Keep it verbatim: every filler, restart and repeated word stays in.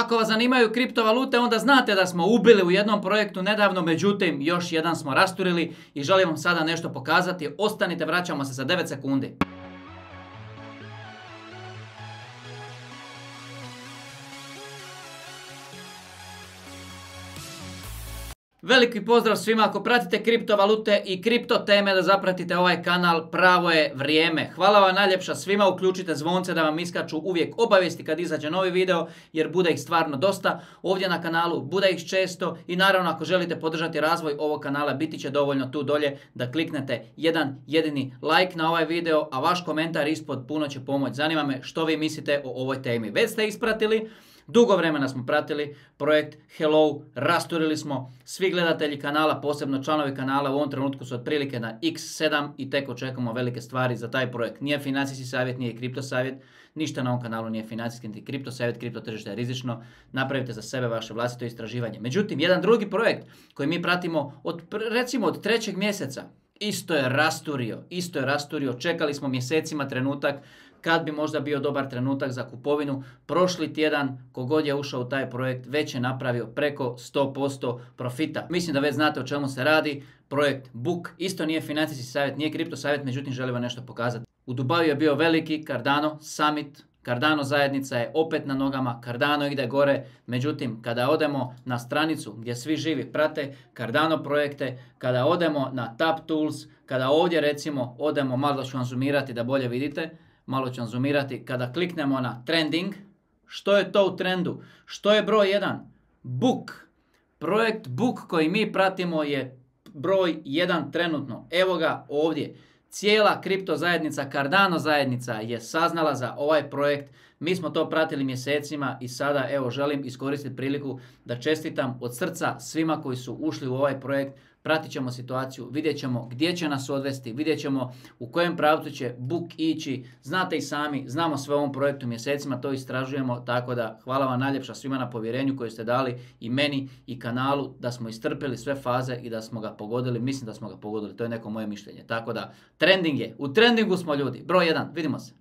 Ako vas zanimaju kriptovalute, onda znate da smo ubili u jednom projektu nedavno, međutim još jedan smo rasturili i želim vam sada nešto pokazati. Ostanite, vraćamo se za devet sekundi. Veliki pozdrav svima, ako pratite kriptovalute i kripto teme da zapratite ovaj kanal, pravo je vrijeme. Hvala vam najljepša svima, uključite zvonce da vam iskaču uvijek obavijesti kad izađe novi video, jer bude ih stvarno dosta ovdje na kanalu, bude ih često i naravno ako želite podržati razvoj ovog kanala, biti će dovoljno tu dolje da kliknete jedan jedini like na ovaj video, a vaš komentar ispod puno će pomoći. Zanima me što vi mislite o ovoj temi. Već ste ispratili. Dugo vremena smo pratili projekt Hello, rasturili smo, svi gledatelji kanala, posebno članovi kanala u ovom trenutku su otprilike na iks sedam i tek očekujemo velike stvari za taj projekt. Nije financijski savjet, nije kripto savjet, ništa na ovom kanalu nije financijski niti kripto savjet, kripto tržište je rizično, napravite za sebe vaše vlastito istraživanje. Međutim, jedan drugi projekt koji mi pratimo od, recimo od trećeg mjeseca, isto je rasturio, isto je rasturio, čekali smo mjesecima trenutak kad bi možda bio dobar trenutak za kupovinu. Prošli tjedan, kogod je ušao u taj projekt, već je napravio preko sto posto profita. Mislim da već znate o čemu se radi. Projekt Book isto nije financijski savjet, nije kripto savjet, međutim želim vam nešto pokazati. U Dubaju je bio veliki Cardano Summit. Cardano zajednica je opet na nogama, Cardano ide gore, međutim kada odemo na stranicu gdje svi živi prate Cardano projekte, kada odemo na Tap Tools, kada ovdje recimo odemo, malo ću vam zoomirati da bolje vidite, malo ću vam zoomirati, kada kliknemo na trending, što je to u trendu? Što je broj jedan? Book. Projekt Book koji mi pratimo je broj jedan trenutno. Evo ga ovdje. Cijela kripto zajednica, Cardano zajednica je saznala za ovaj projekt. Mi smo to pratili mjesecima i sada evo želim iskoristiti priliku da čestitam od srca svima koji su ušli u ovaj projekt. Pratit ćemo situaciju, vidjet ćemo gdje će nas odvesti, vidjet ćemo u kojem pravcu će Book ići. Znate i sami, znamo sve o ovom projektu mjesecima, to istražujemo, tako da hvala vam najljepša svima na povjerenju koje ste dali i meni i kanalu da smo istrpili sve faze i da smo ga pogodili. Mislim da smo ga pogodili, to je neko moje mišljenje. Tako da, trending je, u trendingu smo ljudi. Broj jedan, vidimo se.